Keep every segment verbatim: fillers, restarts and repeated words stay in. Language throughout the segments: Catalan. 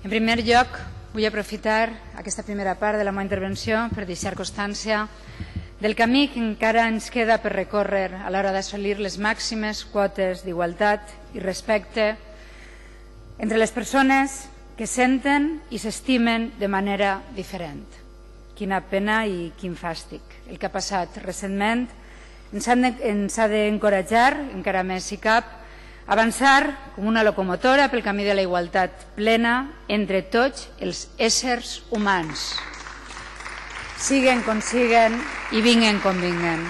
En primer lloc, vull aprofitar aquesta primera part de la meva intervenció per deixar constància del camí que encara ens queda per recórrer a l'hora d'assolir les màximes quotes d'igualtat i respecte entre les persones que senten i s'estimen de manera diferent. Quina pena i quin fàstic. El que ha passat recentment ens ha d'encoratjar, encara més si cap, a avançar com una locomotora pel camí de la igualtat plena entre tots els éssers humans, siguen com siguen i vinguen com vinguen.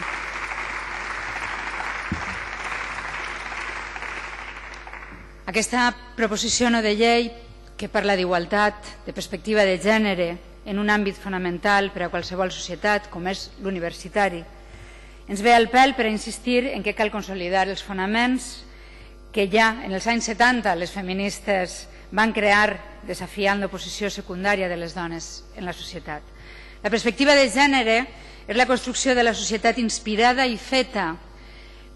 Aquesta proposició no de llei que parla d'igualtat, de perspectiva de gènere, en un àmbit fonamental per a qualsevol societat, com és l'universitari, ens ve al pèl per a insistir en que cal consolidar els fonaments que ja en els anys setanta les feministes van crear desafiant l'oposició secundària de les dones en la societat. La perspectiva de gènere és la construcció de la societat inspirada i feta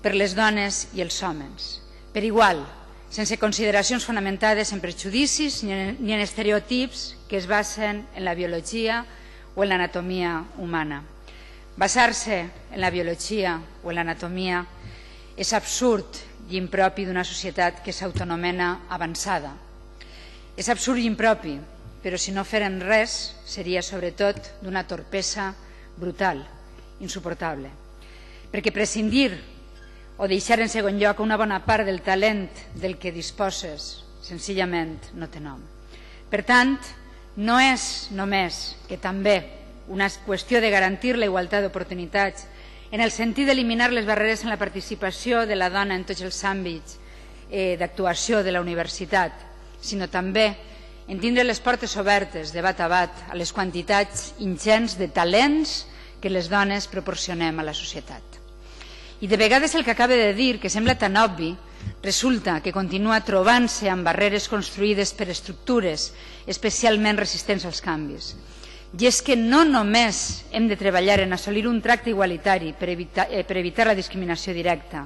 per les dones i els homes, per igual, sense consideracions fonamentades en prejudicis ni en estereotips que es basen en la biologia o en l'anatomia humana. Basar-se en la biologia o en l'anatomia és absurd i impropi d'una societat que s'autoanomena avançada. És absurd i impropi, però si no férem res seria sobretot d'una torpesa brutal, insuportable. Perquè prescindir o deixar en segon lloc una bona part del talent del que disposes senzillament no té nom. Per tant, no és només que també una qüestió de garantir la igualtat d'oportunitats en el sentit d'eliminar les barreres en la participació de la dona en tots els àmbits d'actuació de la universitat, sinó també en tindre les portes obertes de bat a bat a les quantitats ingents de talents que les dones proporcionem a la societat. I de vegades el que acaba de dir, que sembla tan obvi, resulta que continua trobant-se amb barreres construïdes per estructures especialment resistents als canvis. I és que no només hem de treballar en assolir un tracte igualitari per evitar, eh, per evitar la discriminació directa,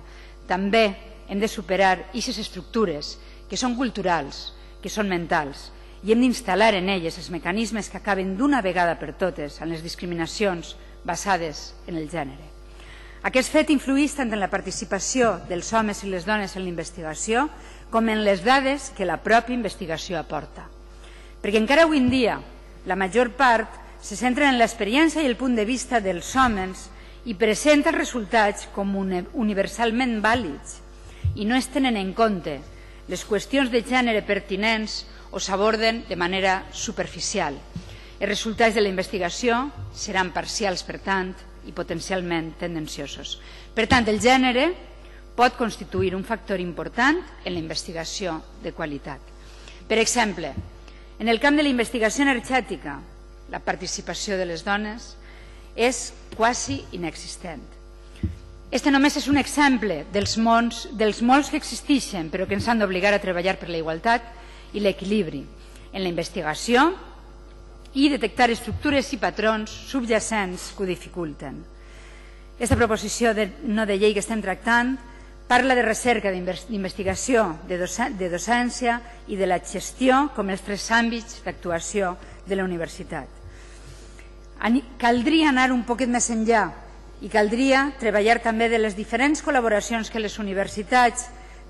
també hem de superar aquestes estructures que són culturals, que són mentals, i hem d'instal·lar en elles els mecanismes que acaben d'una vegada per totes en les discriminacions basades en el gènere. Aquest fet influeix tant en la participació dels homes i les dones en la investigació com en les dades que la pròpia investigació aporta. Perquè encara avui en dia la major part se centra en l'experiència i el punt de vista dels homes i presenta els resultats com universalment vàlids i no es tenen en compte les qüestions de gènere pertinents o s'aborden de manera superficial. Els resultats de la investigació seran parcials, per tant, i potencialment tendenciosos. Per tant, el gènere pot constituir un factor important en la investigació de qualitat. Per exemple, en el camp de la investigació energètica, la participació de les dones és quasi inexistent. Este només és un exemple dels, mons, dels molts que existeixen, però que ens han d'obligar a treballar per la igualtat i l'equilibri en la investigació i detectar estructures i patrons subjacents que ho dificulten. Aquesta proposició de, no de llei que estem tractant parla de recerca, d'investigació, de, de docència i de la gestió com els tres àmbits d'actuació de la universitat. Caldria anar un poquet més enllà i caldria treballar també de les diferents col·laboracions que les universitats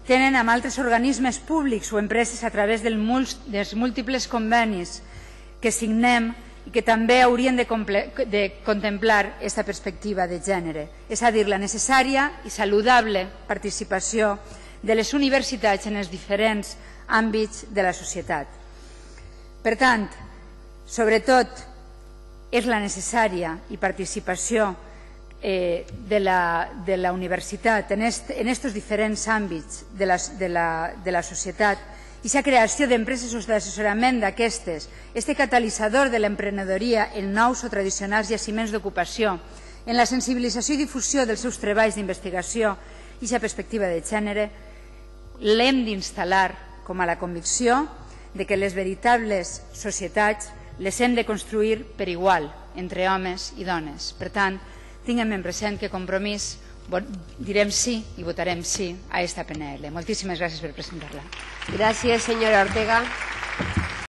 tenen amb altres organismes públics o empreses a través dels múltiples convenis que signem i que també haurien de, de contemplar aquesta perspectiva de gènere, és a dir, la necessària i saludable participació de les universitats en els diferents àmbits de la societat. Per tant, sobretot, és la necessària i participació eh, de, la, de la universitat en aquests diferents àmbits de la, de la, de la societat i la creació d'empreses d'assessorament d'aquestes, este catalitzador de l'emprenedoria en nous o tradicionals jaciments d'ocupació, en la sensibilització i difusió dels seus treballs d'investigació i la perspectiva de gènere, l'hem d'instal·lar com a la convicció de que les veritables societats les hem de construir per igual entre homes i dones. Per tant, tinguem en present que Compromís direm sí i votarem sí a esta P N L. Moltíssimes gràcies per presentar-la. Gràcies, senyora Ortega.